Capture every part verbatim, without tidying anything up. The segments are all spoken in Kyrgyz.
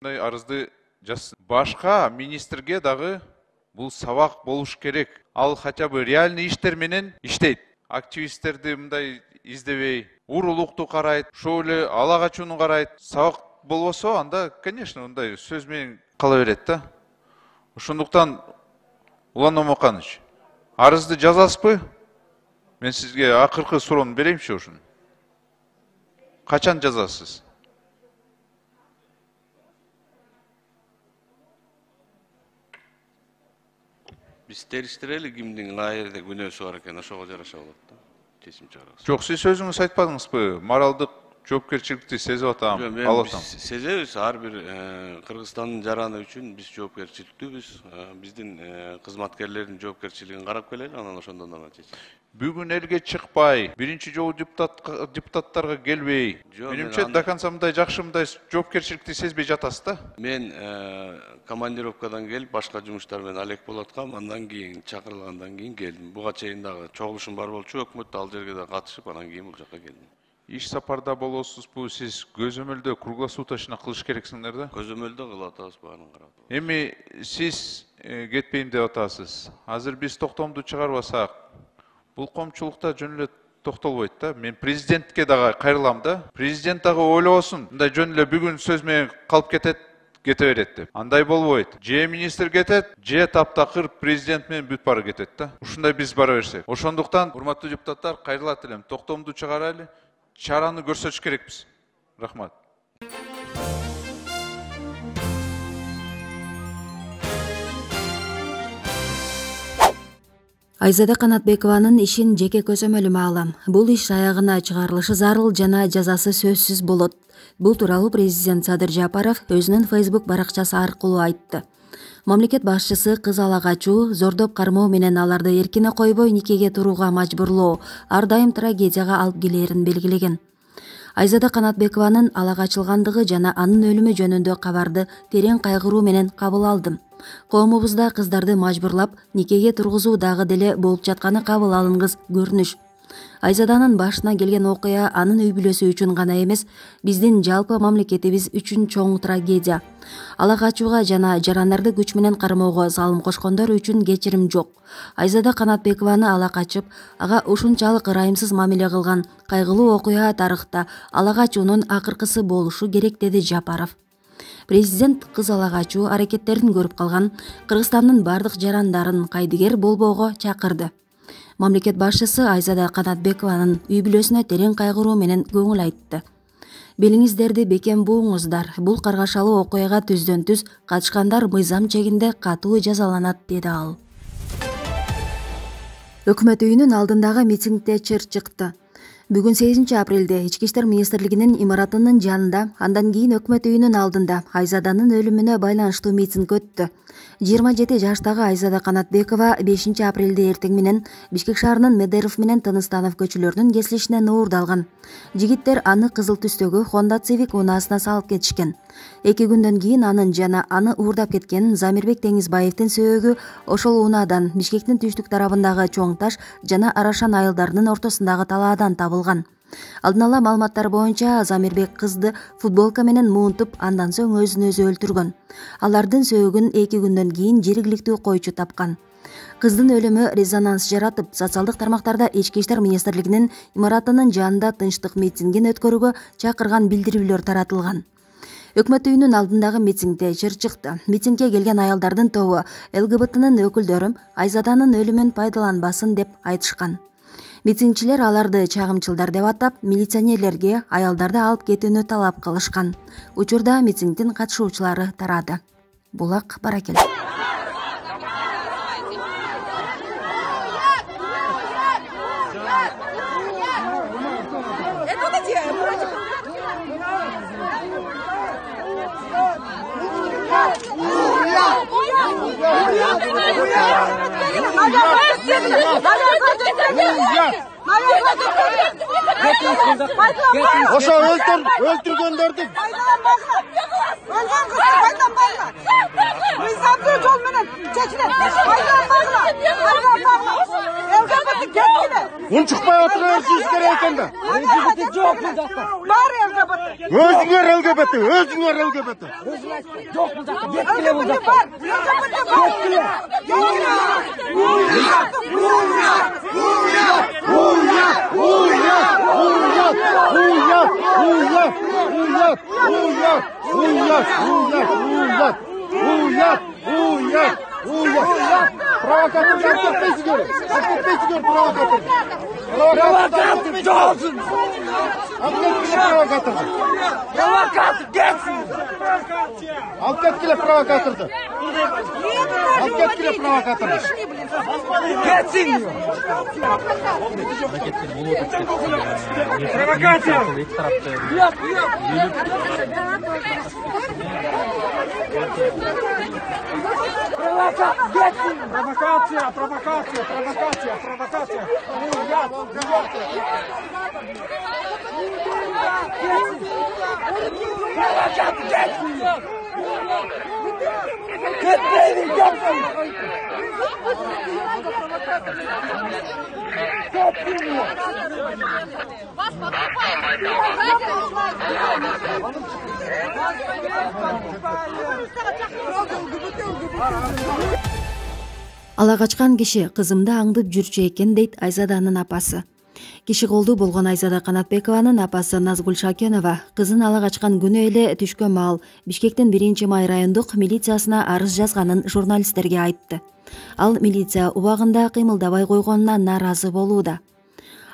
Мындай арызды жазсын. Башка министрге дагы бул сабак болуш керек. Ал хотя бы реальный иштер менен иштейт. Активисттерди мындай издебей, урулукту карайт, ошол эле ала качууну карайт. Сабак болбосо, анда, конечно, мындай сөз менен кала берет да. Ошондуктан Улан Момоканович, арызды жазасызбы? Мен сизге акыркы суроону берейинчи ушуну. Качан жазасыз? Биз териштирели кимдин каерде күнөөсү бар экен, ошого жараша болот да. Чечим чыгарабыз. Жок, сиз өзүңүз айтпадыңызбы? Моралдык жоопкерчиликти сезип атам, алып атам. Сезебиз, ар бир Кыргызстандын жараны үчүн биз жоопкерчиликтүүбүз. Биздин кызматкерлердин жоопкерчилигин карап келели, анан ошондон гана чечебиз. Бүгүн элге чыкпай, биринчи жолу депутаттарга келбей, менимче до конца мындай жакшы мындай жоопкерчиликти сезбей жатасыз да? Мен командировкадан келип, башка жумуштар менен алек болуп аткам, андан кийин чакырылгандан кийин келдим. Буга чейин дагы чогулушум бар болчу, өкмөттө ал жерге да катышып, анан кийин бул жака келдим. Иш сапарда болосузбу, сиз көзөмөлдө круглосуточно кылыш керексиңер да? Көзөмөлдө кылып атабыз, баарын карап. Эми сиз кетпейм деп атасыз. Азыр биз токтомду чыгарбасак, бул коомчулукта жөн эле токтолбойт да. Мен президентке дагы кайрылам да. Президент дагы ойлобосун. Мындай жөн эле бүгүн сөз менен калып кетет, кете берет деп. Андай болбойт. Же министр кетет, же таптакыр президент менен бүт бары кетет да. Ушундай биз бара берсек. Ошондуктан, урматтуу депутаттар, кайрылат элем. Токтомду чыгарайлы. Чараны көрсөтүш керекпиз. Рахмат. Айзада Канатбекованын ишин жеке көзөмөлүмө алам. Бул иш аягына чыгарылышы зарыл жана жазасы сөзсүз болот. Бул тууралуу президент Садыр Жапаров өзүнүн Facebook баракчасы аркылуу айтты. Мамлекет башчысы кыз ала качуу, зордоп кармоо менен аларды эркине койбой никеге турууга мажбурлоо ар дайым трагедияга алып келээрин белгилеген. Айзада Канатбекованын ала качылгандыгы жана анын өлүмү жөнүндө кабарды терең кайгыруу менен кабыл алдым. Коомубузда кыздарды мажбурлап никеге тургузуу дагы деле болуп жатканы кабыл алынгыс көрүнүш. Айзаданын башына келген окуя анын үй бүлөсү үчүн гана эмес, биздин жалпы мамлекетибиз үчүн чоң трагедия. Ала качууга жана жарандарды күч менен кармоого салым кошкондор үчүн кечирим жок. Айзада Канатбекованы ала качып, ага ушунчалык ырайымсыз мамиле кылган кайгылуу окуя тарыхта ала качуунун акыркысы болушу керек, деди Жапаров. Президент кыз ала качуу аракеттерин көрүп калган Кыргызстандын бардык жарандарын кайдыгер болбоого чакырды. Мамлекет башчысы Айзада Канатбекованын үй бүлөсүнө терең кайгыруу менен көңүл айтты. Белиңиздерди бекем бууңуздар. Бул каргашалуу окуяга түздөн түз катышкандар мыйзам чегинде катуу жазаланат, деди ал. Өкмөт үйүнүн алдындагы митингде чыр чыкты. Бүгүн сегизинчи апрелде Ички иштер министрлигинин имаратынын жанында, андан кийин өкмөт үйүнүн алдында Айзаданын өлүмүнө байланыштуу митинг өттү. жыйырма жети жаштагы Айзада Канатбекова бешинчи апрелде эртең менен Бишкек шаарынын Медеров менен Тыныстанов көчөлөрүнүн кесилишинен уурдалган. Жигиттер аны кызыл түстөгү Honda Civic унаасына салып кетишкен. Эки күндөн кийин анын жана аны уурдап кеткен Замирбек Теңизбаевдин сөөгү ошол унаадан Бишкектин түштүк тарабындагы Чоң Таш жана Арашан айылдарынын ортосундагы талаадан табылган. Алдын ала маалыматтар боюнча Замирбек кызды футболка менен муунтуп, андан соң өзүн өзү өлтүргөн. Алардын сөөгүн эки күндөн кийин жергиликтүү койчу тапкан. Кыздын өлүмү резонанс жаратып, социалдык тармактарда Ички иштер министрлигинин имаратынын жанында тынчтык митингин өткөрүүгө чакырган билдирүүлөр таратылган. Өкмөт үйүнүн алдындагы митингде чыр чыкты. Митингге келген аялдардын тобу ЛГБТнын өкүлдөрү Айзаданын өлүмүн пайдаланбасын деп айтышкан. Митингчилер аларды чагымчылдар деп атап, милиционерлерге аялдарды алып кетүүнү талап кылышкан. Учурда митингдин катышуучулары тарады. Булак Баракел. Ошо өлтүргөндөрдү өлгөн кызды пайдаланбайла. Мыйзамдуу жол менен чечилет. Пайдаланбайла. ЛГБТ кеткиле. Унчукпай отурганыңыз керек экен да. ЛГБТ жок бул жакта. Бар ЛГБТ. Өзүңөр ЛГБТ, өзүңөр ЛГБТ. Жок бул жакта, кеткиле бул жакта. Кеткиле. Уят, уят, уят. Провокатор кетпейсиңер. Кетпейсиңер провокатор. Провокатор жоқсың. Алып кеткиле провокаторду. Провокатор кетсин. Алып кеткиле провокаторду. Алып кеткиле провокаторду. Кетсин. Провокация. Провокация, провокация, провокация, провокация. Ала качкан киши кызымды аңдып жүрчү экен дейт Айзаданын апасы. Киши колдуу болгон Айзада Канатбекованын апасы Назгүл Шакенова кызын ала качкан күнү эле түшкө маал Бишкектин биринчи май райондук милициясына арыз жазганын журналисттерге айтты. Ал милиция убагында кыймылдабай койгонуна нааразы болууда.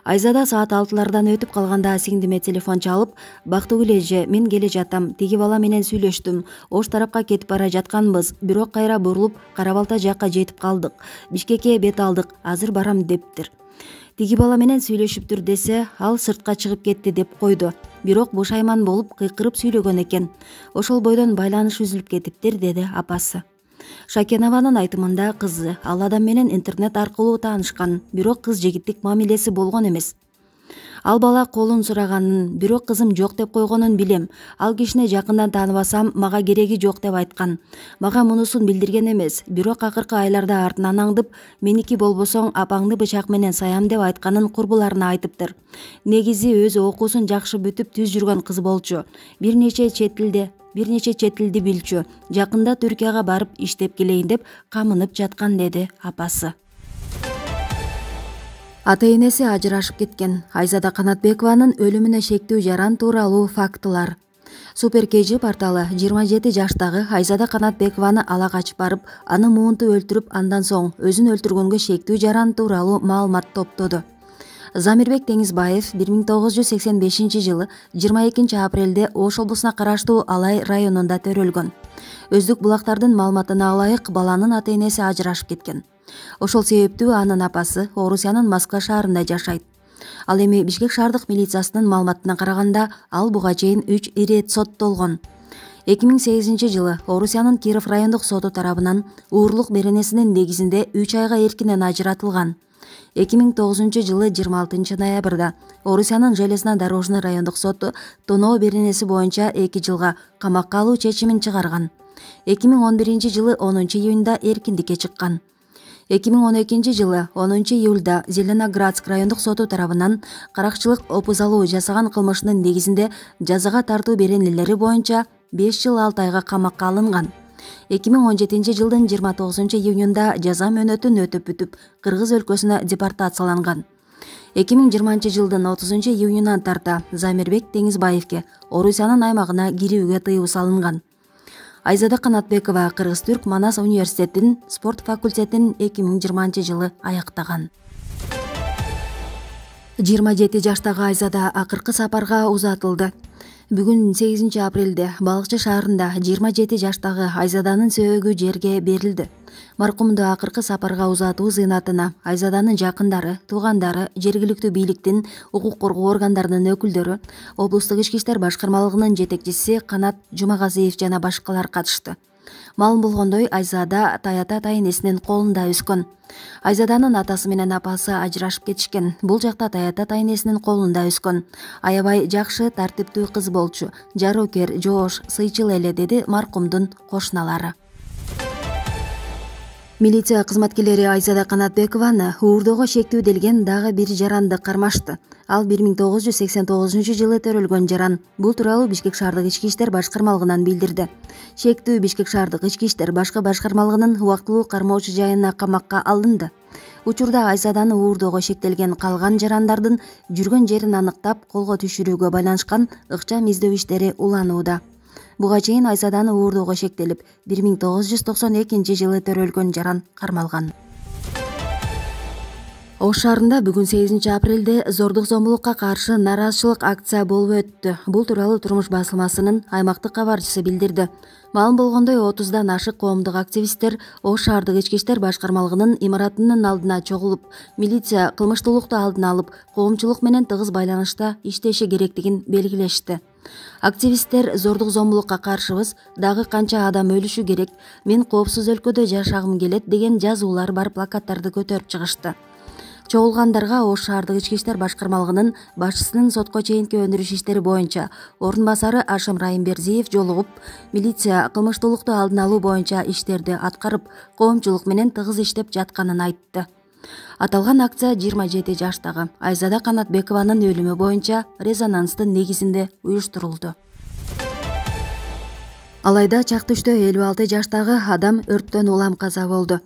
Айзада саат алтылардан өтүп калганда сиңдиме телефон чалып, "Бактыгүл эже, мен келе жатам. Тиги бала менен сүйлөштүм. Ош тарапка кетип бара жатканбыз. Бирок кайра бурулуп, Кара Балта жакка жетип калдык. Бишкекке бет алдык. Азыр барам" дептир. Тиги бала менен сүйлөшүптүр десе, ал сыртка чыгып кетти деп койду. Бирок бушайман болуп кыйкырып сүйлөгөн экен. Ошол бойдон байланыш үзүлүп кетиптир, деди апасы. Шакенованын айтымында кызы ал адам менен интернет аркылуу таанышкан, бирок кыз жигиттик мамилеси болгон эмес. Ал бала колун сураганын, бирок кызым жок деп койгонун билем. Ал кишини жакындан тааныбасам, мага кереги жок деп айткан. Мага мунусун билдирген эмес, бирок акыркы айларда артынан аңдып, меники болбосоң апаңды бычак менен саям деп айтканын курбуларына айтыптыр. Негизи өзү окуусун жакшы бүтүп түз жүргөн кыз болчу. Бир нече чет тилде бир нече чет тилди билчү. Жакында Түркияга барып иштеп келейин деп камынып жаткан, деди апасы. Ата-энеси ажырашып кеткен. Айзада Канатбекованын өлүмүнө шектүү жаран тууралуу фактылар. Супер кей жи порталы жыйырма жети жаштагы Айзада Канатбекованы ала качып барып, аны муунтуп өлтүрүп, андан соң өзүн өлтүргөнгө шектүү жаран тууралуу маалымат топтоду. Замирбек Теңизбаев бир миң тогуз жүз сексен бешинчи жылы жыйырма экинчи апрелде Ош облусуна караштуу Алай районунда төрөлгөн. Өздүк булактардын маалыматына ылайык, баланын ата-энеси ажырашып кеткен. Ошол себептүү анын апасы Орусиянын Москва шаарында жашайт. Ал эми Бишкек шаардык милициясынын маалыматына караганда, ал буга чейин үч ирет соттолгон. эки миң сегизинчи жылы Орусиянын Киров райондук соту тарабынан уурлук беренесинин негизинде үч айга эркинен ажыратылган. эки миң тогузунчу жылы жыйырма алтынчы ноябрда Орусиянын Железнодорожный райондук соту тоноо беренеси боюнча эки жылга камакка алуу чечимин чыгарган. эки миң он биринчи жылы онунчу июнда эркиндикке чыккан. эки миң он экинчи жылы онунчу июлда Зеленоградск райондук соту тарабынан каракчылык опузалуу жасаган кылмышынын негизинде жазага тартуу беренелери боюнча беш жыл алты айга камакка алынган. эки миң он жетинчи жылдын жыйырма тогузунчу июнунда жаза мөөнөтүн өтөп бүтүп, Кыргыз өлкөсүнө депортацияланган. эки миң жыйырманчы жылдын отузунчу июнунан тарта Замирбек Теңизбаевке Орусиянын аймагына кирүүгө тыюу салынган. Айзада Канатбекова Кыргыз-Түрк Манас университетинин спорт факультетин эки миң жыйырманчы жылы аяктаган. жыйырма жети жаштагы Айзада акыркы сапарга узатылды. Бүгүн сегизинчи апрелде Балыкчы шаарында жыйырма жети жаштагы Айзаданын сөөгү жерге берилди. Маркумду акыркы сапарга узатуу зыйнатына Айзаданын жакындары, туугандары, жергиликтүү бийликтин, укук коргоо органдарынын өкүлдөрү, облустук ички иштер башкармалыгынын жетекчиси Канат Жумагазиев жана башкалар катышты. Маалым болгондой, Айзада Таята ата-энесинин колунда өскөн. Айзаданын атасы менен апасы ажырашып кетишкен. Бул жакта Таята ата-энесинин колунда өскөн. Аябай жакшы, тартиптүү кыз болчу. Жароокер, жоош, сыйчыл эле, деди маркумдун кошуналары. Милиция кызматкерлери Айзада Канатбекованы уурдоого шектүүделген дагы бир жаранды кармашты. Ал бир миң тогуз жүз сексен тогузунчу жылы төрөлгөн жаран. Бул тууралуу Бишкек шаардык ички иштер башкармалыгынан билдирди. Шектүү Бишкек шаардык ички иштер башкы башкармалыгынын убактылуу кармоочу жайына камакка алынды. Учурда Айзаданы уурдоого шектелген калган жарандардын жүргөн жерин аныктап колго түшүрүүгө байланышкан ыкчам издөө иштери уланууда. Буга чейин Айзаданы уурдоого шектелип, бир миң тогуз жүз токсон экинчи жылы төрөлгөн жаран кармалган. Ош шаарында бүгүн сегизинчи апрелде зордук зомбулукка каршы нааразычылык акция болуп өттү. Бул тууралуу Турмуш басылмасынын аймактык кабарчысы билдирди. Маалым болгондой, отуздан ашык коомдук активисттер Ош шаардык ички иштер башкармалыгынын имаратынын алдына чогулуп, милиция кылмыштуулукту алдын алып, коомчулук менен тыгыз байланышта иштеши керектигин белгилешти. Активисттер зордук зомбулукка каршыбыз, дагы канча адам өлүшү керек, мен коопсуз өлкөдө жашагым келет деген жазуулар бар плакаттарды көтөрүп чыгышты. Чогулгандарга Ош шаардык ички иштер башкармалыгынын башчысынын сотко чейинки өндүрүш иштери боюнча орун басары Ашым Райымбердиев жолугуп, милиция кылмыштуулукту алдын алуу боюнча иштерди аткарып, коомчулук менен тыгыз иштеп жатканын айтты. Аталган акция жыйырма жети жаштагы Айзада Канатбекованын өлүмү боюнча резонанстын негизинде уюштурулду. Алайда Чактүштө элүү алты жаштагы адам өрттөн улам каза болду.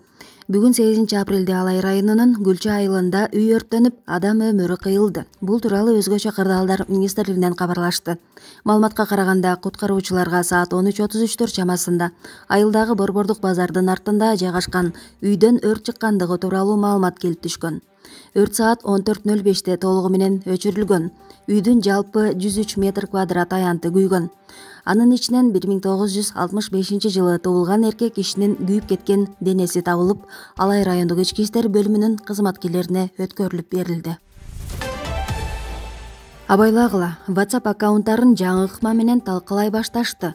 Бүгүн сегизинчи апрелде Алай районунун Гүлчө айылында үй өрттөнүп, адам өмүрү кыйылды. Бул тууралуу Өзгөчө кырдаалдар министрлигинен кабарлашты. Маалыматка караганда, куткаруучуларга саат он үч отуз үчтөр чамасында айылдагы Борбордук базардын артында жайгашкан үйдөн өрт чыккандыгы тууралуу маалымат келип түшкөн. Өрт саат он төрт нөл беште толугу менен өчүрүлгөн. Үйдүн жалпы жүз үч метр квадрат аянты күйгөн. Анын ичинен бир миң тогуз жүз алтымыш бешинчи жылы туулган эркек кишинин күйүп кеткен денеси табылып, Алай райондук ички иштер бөлүмүнүн кызматкерлерине өткөрүлүп берилди. Абайлагыла, WhatsApp аккаунттарын жаңы ыкма менен талкалай башташты.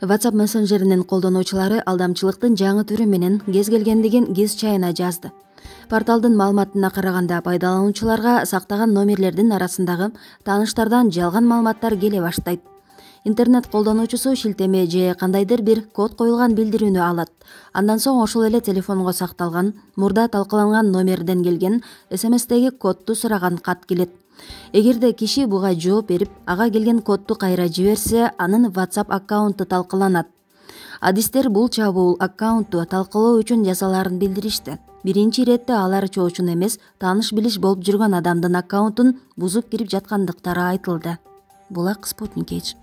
WhatsApp мессенджеринин колдонуучулары алдамчылыктын жаңы түрү менен кез келгендигин кез чайына жазды. Порталдын маалыматына караганда, пайдалануучуларга сактаган номерлердин арасындагы тааныштардан жалган маалыматтар келе баштайт. Интернет колдонуучусу шилтеме же кандайдыр бир код коюлган билдирүүнү алат. Андан соң ошол эле телефонго сакталган, мурда талкаланган номерден келген эс эм эстеги кодду сураган кат келет. Эгерде киши буга жооп берип, ага келген кодду кайра жиберсе, анын WhatsApp аккаунту талкаланат. Адистер бул чабуул аккаунтту талкалоо үчүн жасаларын билдиришти. Биринчи иретте алар чоочун эмес, тааныш билиш болуп жүргөн адамдын аккаунтун бузуп кирип жаткандыктары айтылды. Булак Спутник.